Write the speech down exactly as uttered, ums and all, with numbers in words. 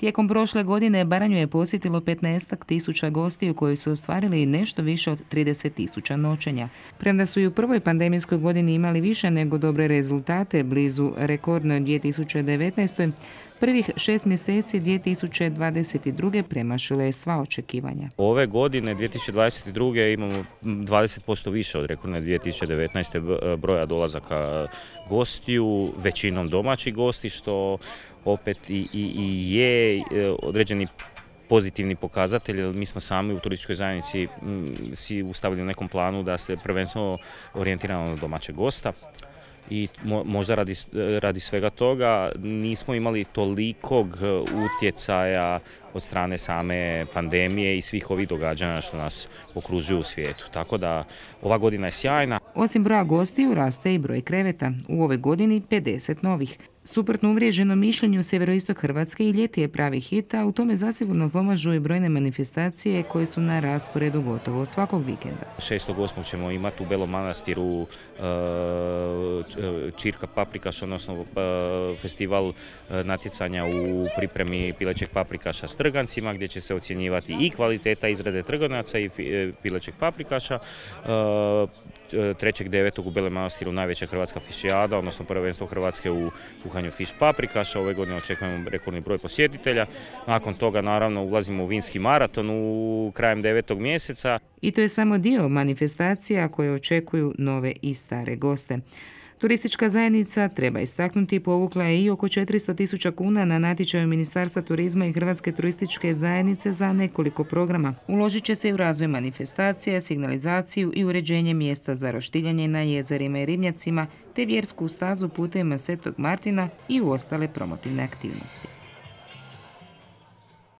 Tijekom prošle godine Baranju je posjetilo petnaestak tisuća gostiju koji su ostvarili nešto više od trideset tisuća noćenja. Premda su i u prvoj pandemijskoj godini imali više nego dobre rezultate, blizu rekordnoj dvije tisuće devetnaestoj. Prvih šest mjeseci dvije tisuće dvadeset druge premašile je sva očekivanja. Ove godine, dvije tisuće dvadeset druge imamo dvadeset posto više od rekordne dvije tisuće devetnaeste. broja dolazaka gostiju, većinom domaćih gosti, što opet i, i, i je određeni pozitivni pokazatelj. Mi smo sami u turističkoj zajednici si ustavili u nekom planu da se prvenstveno orijentiramo na domaćeg gosta. I možda radi, radi svega toga nismo imali tolikog utjecaja od strane same pandemije i svih ovih događanja što nas okružuju u svijetu. Tako da ova godina je sjajna. Osim broja gostiju raste i broj kreveta. U ovoj godini pedeset novih. Suprotno uvriježenom mišljenju, sjeveroistok Hrvatske i ljeti je pravi hit, a u tome zasigurno pomažu i brojne manifestacije koje su na rasporedu gotovo svakog vikenda. šestog osmog ćemo imati u Belom Manastiru Čirka paprikaša, odnosno festival natjecanja u pripremi pilećeg paprikaša s trgancima, gdje će se ocjenjivati i kvaliteta izrade trgonaca i pilećeg paprikaša. trećeg devetog u Belom Manastiru najveća hrvatska fišijada, odnosno prvenstvo Hrvatske u kuhanju fiš paprikaša. Ove godine očekujemo rekordni broj posjetitelja. Nakon toga naravno ulazimo u vinski maraton u krajem devetog mjeseca. I to je samo dio manifestacija koje očekuju nove i stare goste. Turistička zajednica, treba istaknuti, povukla je i oko četiristo tisuća kuna na natječaju Ministarstva turizma i Hrvatske turističke zajednice za nekoliko programa. Uložit će se i u razvoj manifestacija, signalizaciju i uređenje mjesta za roštiljanje na jezerima i ribnjacima, te vjersku stazu putevima Svetog Martina i u ostale promotivne aktivnosti.